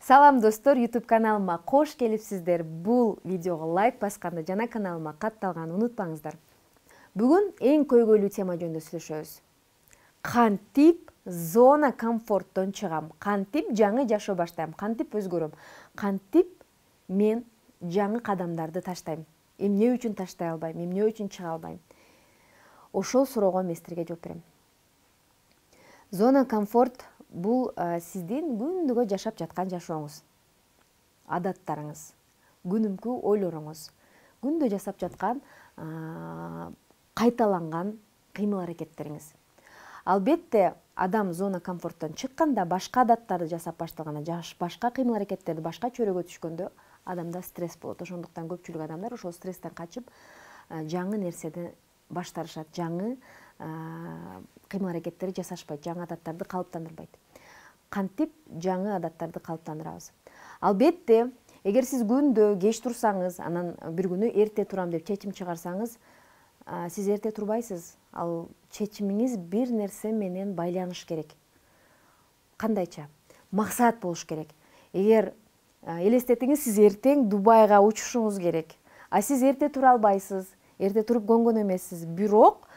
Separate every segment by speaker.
Speaker 1: Салам достор, YouTube каналыма кош келипсиздер. Бул видеого лайк басканды жана каналыма катталганды унутпаңыздар. Бүгүн эң көйгөйлүү тема жөнүндө сүйлөшөбүз. Кантип зона комфорттон чыгам? Кантип жаңы жашоо баштайм? Кантип өзгөрөм? Кантип мен жаңы кадамдарды таштайм? Эмне үчүн таштай албайм? Эмне үчүн чыга албайм? Ошол суроого мен силерге жооп берем. Зона комфорт бул сиздин күндүгө жашап жаткан жашооңуз, адаттарыңыз, күнүмкү ойлоруңуз, күндө жасап жаткан кайталанган кыймыл-аракеттериңиз. Албетте, адам зона комфорттон чыкканда, башка адаттарды жасап баштаганда, башка кыймыл-аракеттерди, башка чөйрөгө түшкөндө адамда стресс болот. Ошондуктан көпчүлүк адамдар ошол стресстен качып, жаңы нерседи баштарышат, жаңы кыймыл-аракеттерди жасашпайт, жаңы адаттарды калыптандырбайт. Кантип жаңы адаттарды калыптандырабыз? Албетте, эгер сиз күндө кеч турсаңыз, анан бир күнү эрте турам деп чечим чыгарсаңыз, сиз эрте турбайсыз. Ал чечимиңиз бир нерсе менен байланыш керек. Кандайча? Максат болуш керек. Эгер элестетиңиз, сиз эртең Дубайга учушуңуз керек. А сиз эрте тура албайсыз, эрте туруп көнгөн эмессиз. Бирок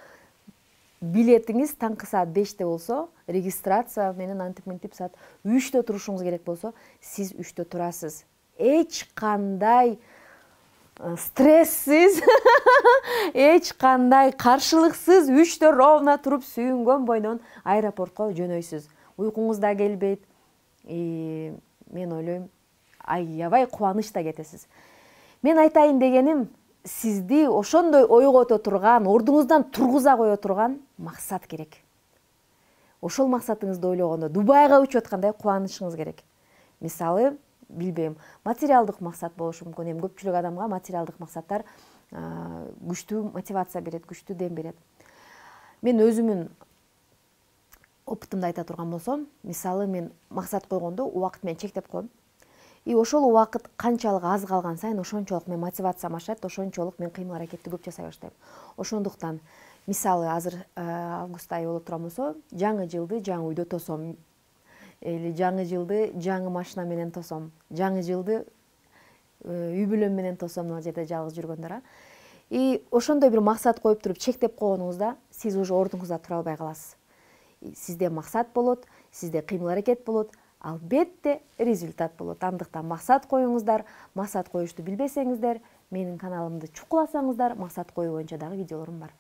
Speaker 1: билетиңиз таңкы саат 5-те болсо, регистрация менен антип-мынтип саат 3-тө турушуңуз керек болсо, сиз 3-тө турасыз. Эч кандай стрессиз, эч кандай каршылыксыз 3-тө ровно туруп сүйүнгөн бойдон аэропортко жөнөйсүз. Уйкуңуз да келбейт. Мен ойлойм, аябай кубанычта кетесиз. Мен айтайын дегеним, сизди ошондой ойгото турган, ордуңуздан тургуза кое турган максат керек. Ошол максатыңызды ойлогондо Дубайга учуп аткандай кубанычыңыз керек. Мисалы, билбейм, материалдык максат болушу мүмкүн. Эми көпчүлүк адамга материалдык максаттар күчтүү мотивация берет, күчтүү дем берет. Мен өзүмүн опытымды айта турган болсом, мисалы, мен максат койгондо убакыт менен чектеп коем. И ошол убакыт канчалык аз калган сайын ошончолук мен мотивациям ашат, ошончолук мен кыймыл-аракетти көп жасай баштайм. Ошондуктан, мисалы, азыр август айы болуп турган болсо, жаңы жылды жаңы үйдө тосом, или жаңы жылды жаңы машина менен тосом, жаңы жылды үй бүлөм менен тосом, ал жерде жалгыз жүргөндөр. И ошондой бир максат коюп туруп чектеп койгонуңузда, сиз уже ордуңузда тура албай каласыз. Сизде максат болот, сизде кыймыл-аракет болот, албетте результат болот. Андыктан максат коюңуздар. Максат коюшту билбесеңиздер, менин каналымды чукуласаңыздар, максат коюу боюнча дагы видеолорум бар.